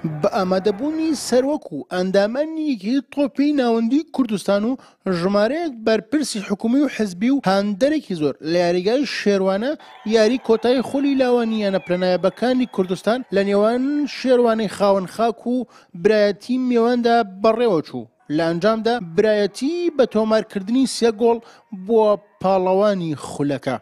بە ئامادەبوونی سەرۆک و ئەندامانی یەکێتی تۆپی ناوەندی کوردستان و ژمارەیەک بەرپرسی حکومی و حزبی و هاندەرێکی زۆر لە یاریگای شێروانە یاری کۆتایی خولی لاوانی یانە پلەنایابەکانی کوردستان لە نێوان شێروانەی خاوەن خاک و برایەتی میواندا بەڕێوەچوو. لە ئەنجامدا برایەتی بە تۆمارکردنی سێ گۆڵ بووە پاڵەوانی خولەکە.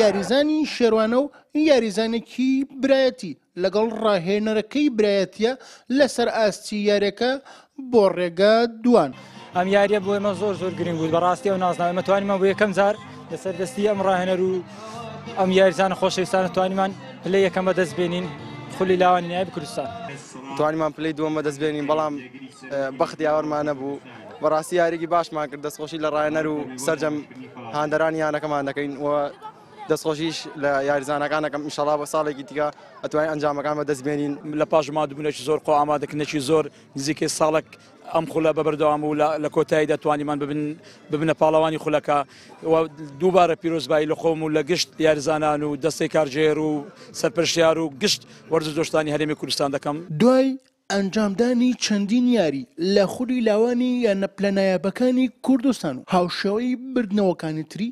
یاریزانی شێروانە و یاریزانێکی برایەتی لەگەڵ ڕاهێنەرەکەی برایەتیە لەسەر ئاستی یاریەکە بۆ ڕێگا دوان. ئەم یاریە بۆ ئێمە زۆر زۆر گرنگ بوو بەڕاستی ئەو نازناوە ئێمە توانیمان بۆ یەکەم جار لەسەر دەستی ئەم ڕاهێنەر و ئەم یاریزانە خۆشەویستانە توانیمان پلەی یەکەم بەدەست بێنین خولی لاوانی نایب کوردستان. توانیمان پلەی دووەم بەدەست بێنین بەڵام بەخت یاوەرمان نەبوو بەڕاستی یاریی باشمان کرد دەستخۆشی لە ڕاهێنەر و سەرجەم هاندەرانی یانەکەمان دەکەین و دەستخۆشیش لە یاریزانەکان دەکەم ئینشەڵا بۆ ساڵێکی دیکە ئەتوانین ئەنجامەکان بەدەست بێنین. لە پاش مادووبوونێکی زۆر خۆ ئامادەکردنێکی زۆر نزیکەی ساڵێک ئەم خولە بە بەردەوام و لە کۆتاییدا توانیمان ببن ببنە پاڵەوانی خولەکە و دووبارە پیرۆزبایی لە خۆم و لە گشت یاریزانان و دەستەی کارگێر و سەرپەرشتیار و گشت وەرزشدۆستانی هەرێمی کوردستان دەکەم. دوای ئەنجامدانی چەندین یاری لە خولی لاوانی یانە پلە نایابەکانی کوردستان و هاوشێوەی بردنەوەکانی تری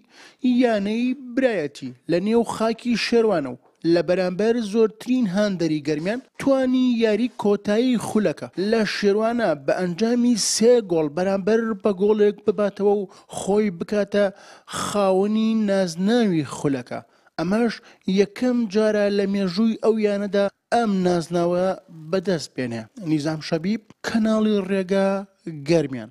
یانەی برایەتی لە نێو خاکی شێروانە و لە بەرامبەر زۆرترین هاندەری گەرمیان توانی یاری کۆتایی خولەکە لە شێروانە بە ئەنجامی سێ گۆڵ بەرامبەر بە گۆڵێک بباتەوە و خۆی بکاتە خاوەنی نازناوی خولەکە ئەمەش یەکەم جارە لە مێژووی ئەو یانەدا ئەم نازناوە بەدەست بێنێ. نیزام شەبیب، کەناڵی ڕێگا، گەرمیان.